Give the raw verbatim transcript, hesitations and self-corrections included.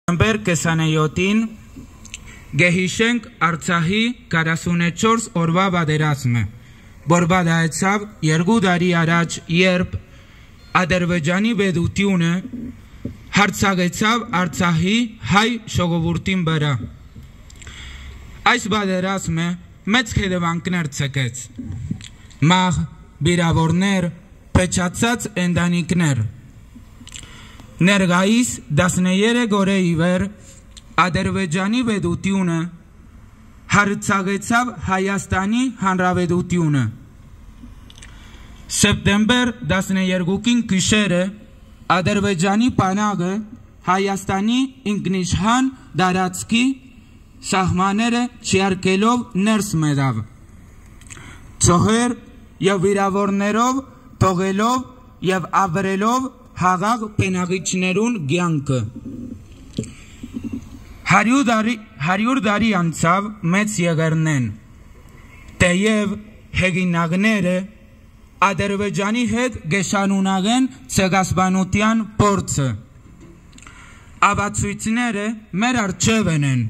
Սեպտեմբեր քսանեթին կը յիշենք Արցախի քառասունեթ չորս օրուայ պատերազմը, որ պատահեցաւ երկու տարի առաջ, երբ Ադրբեջանի պետութիւնը յարձակեցաւ Արցախի հայ ժողովուրդին վրայ։ Այս պատերազմը մեծ հետեւանքներ ձգեց. մահ, վիրաւորներ, փչացած ընտանիքներ։ Ներկայիս տասներեք օրէ ի վեր Ադրբեջանի պետութիւնը յարձակեցաւ Հայաստանի Հանրապետութիւնը։ Սեպտեմբեր տասներեքին գիշերը Ադրբեջանի բանակը Հայաստանի ինքնիշխան տարածքի սահմանները չյարգելով ներս մտաւ, զոհեր եւ վիրաւորներով թողելով եւ ապրելով խաղաղ բնակիչներուն կեանքը։ Հարիւր տարի, հարիւր տարի անցաւ մեծ եղեռնէն, թէեւ հեղինակները Ադրբեջանի հետ կը շարունակեն ցեղասպանութեան փորձը։ Ապացոյցները մեր առջեւ են,